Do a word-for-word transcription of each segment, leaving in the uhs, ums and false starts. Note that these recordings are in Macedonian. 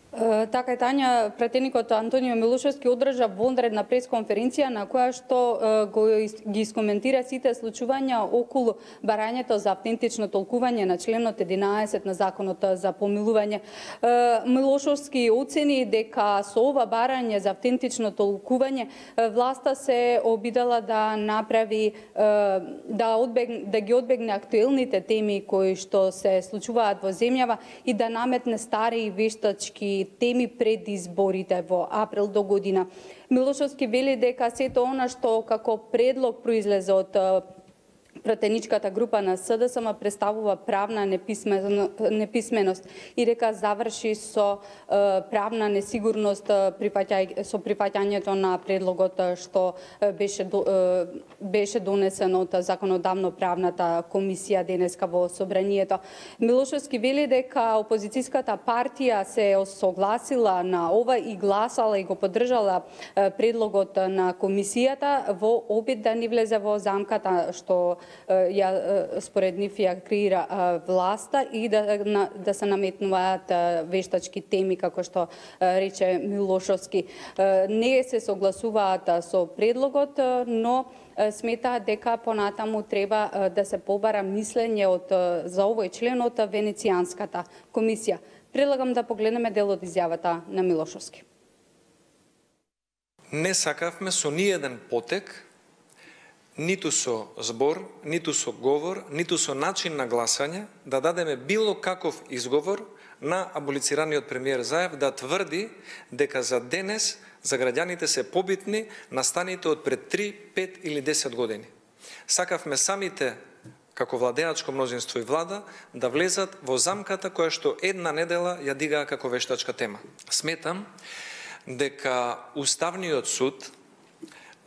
Така е, Тања, пратеникот Антонио Милошевски одржа вонредна пресконференција на која што го ги искоментира сите случувања околу барањето за автентично толкување на членот единаесет на Законот за помилување. Милошевски оцени дека со ова барање за автентично толкување власта се обидела да направи да одбегне да ги одбегне актуелните теми кои што се случуваат во земјава и да наметне стари и вештачки теми пред изборите во април до година. Милошевски вели дека сето она што како предлог произлезе од пратеничката група на СДСМ представува правна неписменост и дека заврши со правна несигурност со прифаќањето на предлогот што беше беше донесен од законодавно правната комисија денеска во собранието. Милошевски вели дека опозицијската партија се согласила на ова и гласала и го поддржала предлогот на комисијата во обид да не влезе во замката што ја според нив ја креира власта и да да се наметнуваат вештачки теми како што рече Милошевски. Не се согласуваат со предлогот, но сметаат дека понатаму треба да се побара мислење од за овој член од Венецијанската комисија. Предлагам да погледнеме дел од изјавата на Милошевски. Не сакавме со ниеден потек, ниту со збор, ниту со говор, ниту со начин на гласање, да дадеме било каков изговор на аболицираниот премиер Заев да тврди дека за денес за граѓаните се побитни настаните од пред три, пет или десет години. Сакавме самите, како владеачко мнозинство и влада, да влезат во замката која што една недела ја дигаа како вештачка тема. Сметам дека Уставниот суд,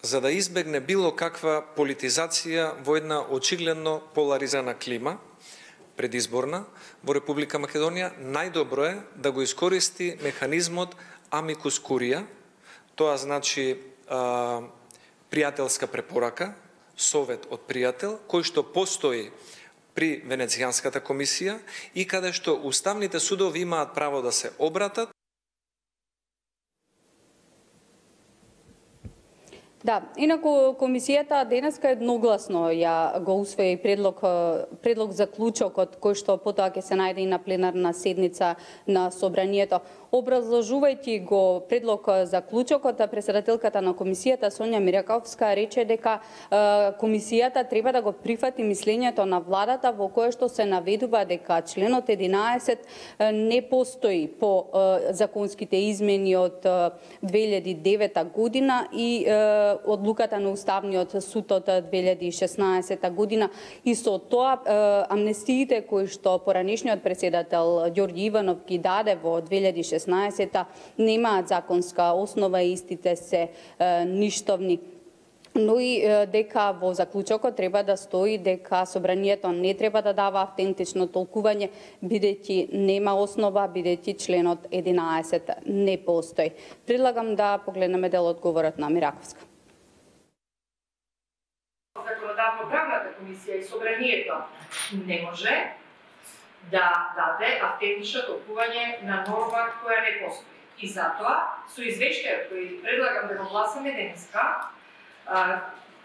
за да избегне било каква политизација во една очигледно поларизирана клима предизборна во Република Македонија, најдобро е да го искористи механизмот амикус курија, тоа значи а, пријателска препорака, совет од пријател, кој што постои при Венецијанската комисија и каде што уставните судови имаат право да се обратат. Да, инаку комисијата денеска едногласно ја го усвои предлог предлог заклучокот кој што потоа ќе се најде и на пленарна седница на собранието. Образложувајќи го предлог заклучокот, претседателката на комисијата Сонја Мираковска рече дека комисијата треба да го прифати мислењето на владата во кое што се наведува дека членот единаесет не постои по законските измени од две илјади и девета година и одлуката на Уставниот суд од две илјади и шеснаесета година и со тоа амнестиите кои што поранешниот претседател Ѓорѓи Иванов ги даде во две илјади и шеснаесета немаат законска основа и истите се ништовни. Но и дека во заклучокот треба да стои дека собранието не треба да дава автентично толкување, бидејќи нема основа, бидејќи членот единаесет не постои. Предлагам да погледнеме дел одговорот на Мираковска. Законодавно-правната комисија и собранието не може да даде автентично толкување на норма која не постои. И затоа, со извештајот кој предлагам да го гласаме денеска,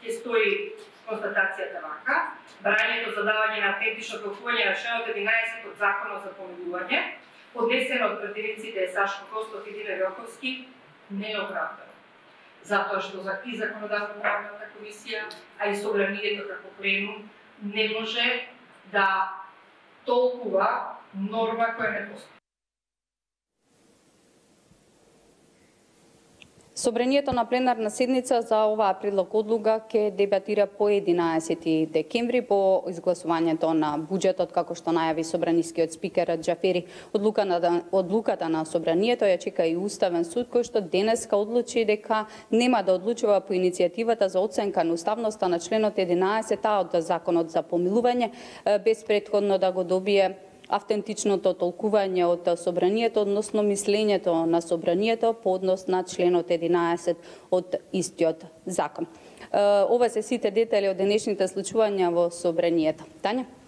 ќе стои констатацијата вака: барањето за давање на автентично толкување на членот единаесет од Законот за помилување, поднесено од пратениците Сашко Костов и Диле Рокоски, не е оправдано. Затоа што и законодавно-правната комисија, а и собранието како пленум не може да толкува норма која не постои. Собранието на пленарна седница за оваа предлог одлука ќе дебатира по единаесети декември по изгласувањето на буџетот, како што најави собранискиот спикер Џафери. Одлуката, одлуката на собранието ја чека и Уставен суд, кој што денеска одлучи дека нема да одлучува по иницијативата за оценка на уставноста на членот единаесет а од Законот за помилување, без претходно да го добие автентичното толкување од собранието, односно мислењето на собранието по однос на членот единаесет од истиот закон. Ова се сите детали од денешните случувања во собранието. Тања?